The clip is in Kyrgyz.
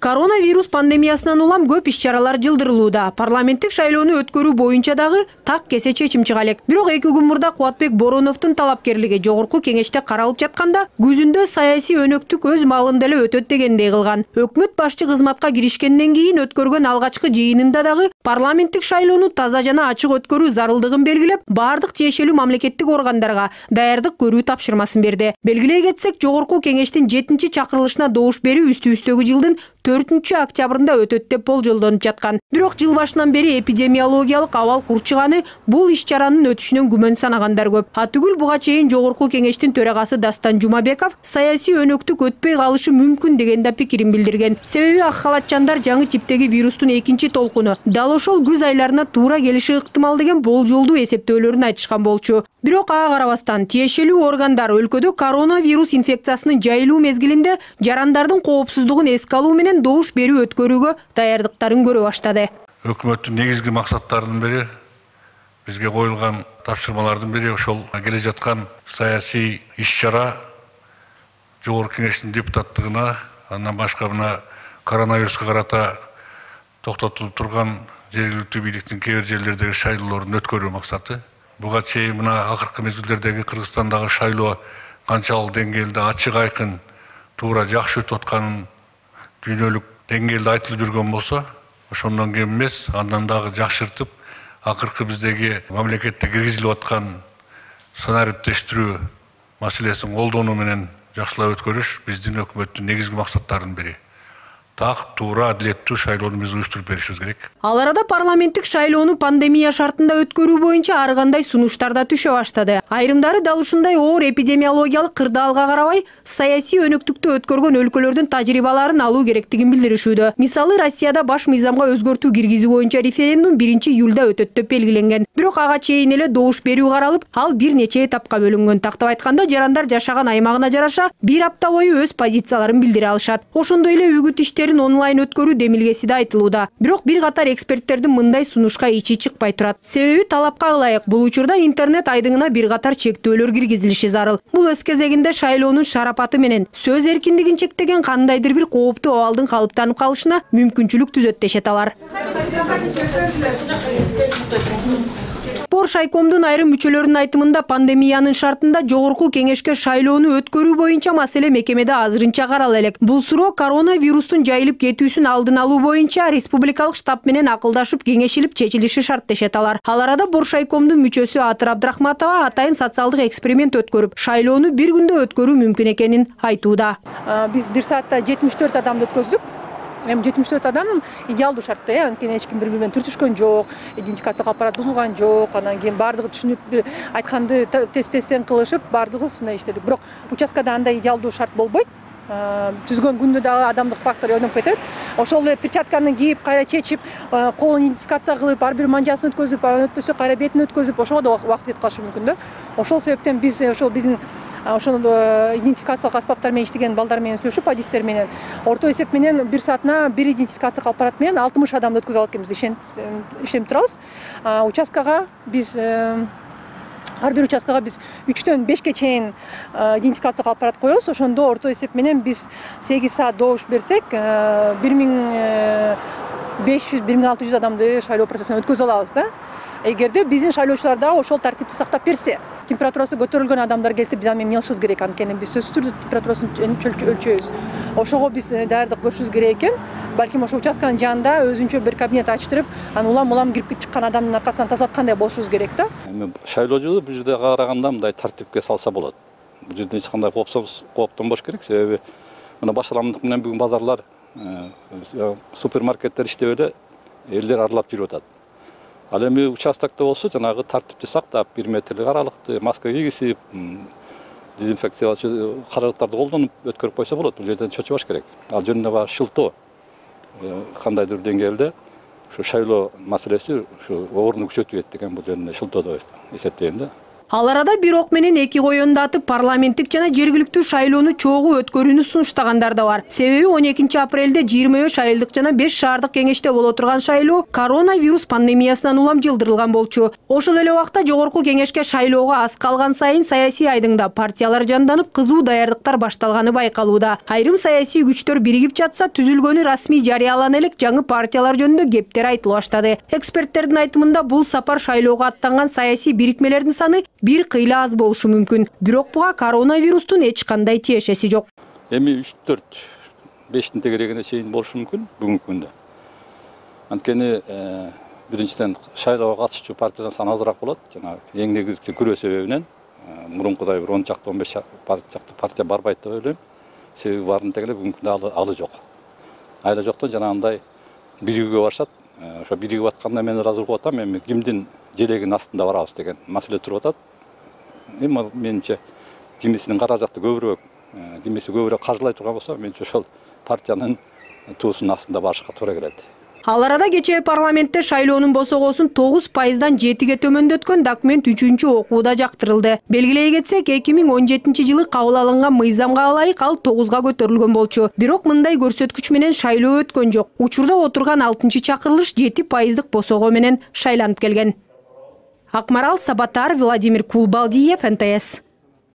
Коронавирус пандемиясынан улам көп иш-чаралар жылдырылууда. Парламенттик шайлоону өткөрүү боюнча дагы так кесе чечим чыга элек. Бирок 2 күн мурда Кубатбек Бороновдун талапкерлиги жогорку кеңеште каралып жатканда, күзүндө саясий өнөктүк өз маалында эле өтөт дегендей кылган. Өкмөт башчы кызматка киришкенден кийин өткөргөн алгачкы жыйынында дагы парламенттик шайлоону таза жана ачык өткөрүү зарылдыгын белгилеп, бардык тиешелүү мамлекеттик органдарга даярдык көрүү тапшырмасын берди. Белгилей кетсек, жогорку кеңештин 7-чакырылышына добуш берүү үстүбүздөгү жылдын 4-октябрында өтөт деп болжолдонуп жаткан. Бирок жыл башынан бери эпидемиологиялык абал курчуганы бул иш-чаранын өтүшүнөн күмөн санагандар көп. Атүгүл буга чейин жогорку кеңештин төрагасы Дастан Жумабеков саясий өнөктүк өтпөй калышы мүмкүн деген да пикирин билдирген. Себеби ак халатчандар жаңы типтеги вирустун 2 толкуну дал ошол күз айларына туура келиши ыктымал деген болжолдуу эсептөөлөрүн айтышкан болчу. Бирок ага карабастан тиешелүү органдар өлкөдө коронавирус инфекциясынын жайылуу мезгилинде жарандардын коопсуздугун эске алуу менен добуш берүү өткөрүүгө даярдыктарын көрө баштады. Өкмөттүн негизги максаттарынын бири, бизге коюлган тапшырмалардын бири ошол келе жаткан саясий иш-чара жогорку кеңештин депутаттыгына, андан башка мына коронавируска карата токтотулуп турган жергиликтүү бийликтин кээ бир жерлердеги шайлоолордун өткөрүү максаты. Буга чейин мына акыркы мезгилдердеги Кыргызстандагы шайлоо канчалык деңгээлде ачык айкын, туура жакшы өтүп атканын дүйнөлүк деңгээлде айтылып жүргөн болсо, ошондон кем эмес, андан дагы жакшыртып, акыркы биздеги мамлекетте киргизилип аткан санариптештирүү маселесин колдонуу менен жакшылап өткөрүш биздин өкмөттүн негизги максаттарынын бири. Так, туура, адилеттүү шайлоону биз уюштуруп беришибиз керек. Ал арада парламенттик шайлоону пандемия шартында өткөрүү боюнча ар кандай сунуштар да түшө баштады. Айрымдары дал ушундай оор эпидемиологиялык кырдаалга карабай, саясий өнөктүктү өткөргөн өлкөлөрдүн тажрыйбаларын алуу керектигин билдиришүүдө. Мисалы, Россияда баш мыйзамга өзгөртүү киргизүү боюнча референдум 1-июлда өтөт деп белгиленген. Бирок ага чейин эле добуш берүү каралып, ал бир нече этапка бөлүнгөн. Тактап айтканда, жарандар жашаган аймагына жараша 1 апта бою өз позицияларын билдире алышат. Ошондой эле үгүт иштерин онлайн өткөрүү демилгеси да айтылууда. Бирок бир катар эксперттердин мындай сунушка ичи чыкпай турат. Себеби талапка ылайык бул учурда интернет айдыңына бир катар чектөөлөр киргизилиши зарыл. Бул өз кезегинде шайлоонун шарапаты менен сөз эркиндигин чектеген кандайдыр бир кооптуу абалдын калыптанып калышына мүмкүнчүлүк түзөт дешет алар. Боршайкомдун айрым мүчөлөрүнүн айтымында пандемиянын шартында жогорку кеңешке шайлоону өткөрүү боюнча маселе мекемеде азырынча карала элек. Бул суроо коронавирустун жайылып кетүүсүн алдын алуу боюнча республикалык штаб менен акылдашып кеңешилип чечилиши шарт дешет алар. Ал арада Боршайкомдун мүчөсү Атыр Абдрахматова атайын социалдык эксперимент өткөрүп, шайлоону бир күндө өткөрүү мүмкүн экенин айтууда. Биз 1 саатта 74 адамды өткөздүк. 74 адам идеалдуу шартта, анткени эч ким бири-бири менен түртүшкөн жок, идентификациялык аппарат бузулган жок, анан кийин бардыгы түшүнүп айтканды тесттен кылышып, бардыгыбыз мындай иштедик. Бирок участкада андай идеалдуу шарт болбойт. Түзгөн күндө дагы адамдык фактор ойноп кетет. Ошол эле перчатканы кийип, кайра чечип, колун идентификация кылып, ар бир манжасын өткөзүп, өтпөсө кайра бетин өткөзүп, ошого да убакыт кетип калышы мүмкүн да. Ошол себептен биз ошол биздин ошол идентификациялык аспаптар менен иштеген балдар менен сүйлөшүп, адистер менен орто эсеп менен 1 саатына бир идентификациялык аппарат менен 60 адамды өткөзүп алат экенбиз, иштенип турабыз. Участкага биз ар бир участкага биз 3-төн 5ке чейин идентификациялык аппарат коебуз. Ошондо орто эсеп менен биз 8 саат добуш берсек, 1500-1600 адамды шайлоо процессине өткөзүп алабыз да. Эгерде биздин шайлоочулар дагы ошол тартипти сактап берсе, температурасы көтөрүлгөн адамдар келсе, биз аны эмне кылышыбыз керек? Анткени биз сөзсүз түрдө температурасын өлчөйбүз. Ошого биз даярдык көрүшүбүз керек экен. Балким ошол участканын жанында өзүнчө бир кабинет ачтырып, анан улам кирип чыккан адамдын аркасынан тазалаткандай болушубуз керек да. Шайлоочу бул жерде караганда мындай тартипке салса болот. Бул жерде эч кандай кооптонбош керек. Себеби мына башталамдык менен бүгүн базарлар, супермаркеттер иштеп эле элдер аралап жүрүп атат. Ал эми участокто болсо жанагы тартипти сактап, 1 метрлик аралыкты, маска кийгизип, дезинфекциялоочу каражаттарды колдонуп өткөрүп койсо болот. Бул жерден чочубаш керек. Ал жөнүндө баягы шылтоо кандайдыр деңгээлде ушу шайлоо маселеси ушу орунду күчөтүп кетти экен, бул жөнүндө шылтоо деп эсептейм да. Ал арада бир ок менен эки коёнду атып парламенттик жана жергиликтүү шайлоону чогуу өткөрүүнү сунуштагандар да бар. Себеби 12 апрелде 25 айылдык жана 5 шаардык кеңеште боло турган шайлоо коронавирус пандемиясынан улам жылдырылган болчу. Ошол эле убакта жогорку кеңешке шайлоого аз калган сайын саясий айдыңда партиялар жанданып, кызуу даярдыктар башталганы байкалууда. Айрым саясий күчтөр биригип жатса, түзүлгөнү расмий жарыялана элек жаңы партиялар жөнүндө кептер айтыла баштады. Эксперттердин айтымында бул сапар шайлоого аттанган саясий бирикмелердин саны бир кыйла аз болушу мүмкүн. Бирок буга коронавирустун эч кандай тиешеси жок. Эми 3-4-5 тегерегине чейин болушу мүмкүн бүгүнкү күндө. Анткени биринчиден шайлоого катышчу партиянын саны азыраак болот. Жана эң негизги күрөө себебинен мурункудай бир 10 чакты 15 чакты партия барбайт деп ойлойм. Себеби баарынын тегеле бүгүнкү күндө алы жок. Айла жоктон жанагындай биригүүгө барышат. Ошо биригип атканда мен ыраазы болуп атам. Эми кимдин желегинин астында барабыз деген маселе туруп атат. Эми менимче кимисинин каражаты көбүрөөк, кимиси көбүрөөк каржылай турган болсо, менимче ошол партиянын туусунун астында барышка туура келет. Ал арада кечээ парламентте шайлоонун босогосун 9%дан 7-ге төмөндөткөн документ 3-окууда жактырылды. Белгилей кетсек, 2017-жылы кабыл алынган мыйзамга ылайык ал 9-га көтөрүлгөн болчу. Бирок мындай көрсөткүч менен шайлоо өткөн жок. Учурда отурган 6-чакырылыш 7% босого менен шайланып келген. Акмарал Сабатар, Владимир Кулбалдиев, НТС.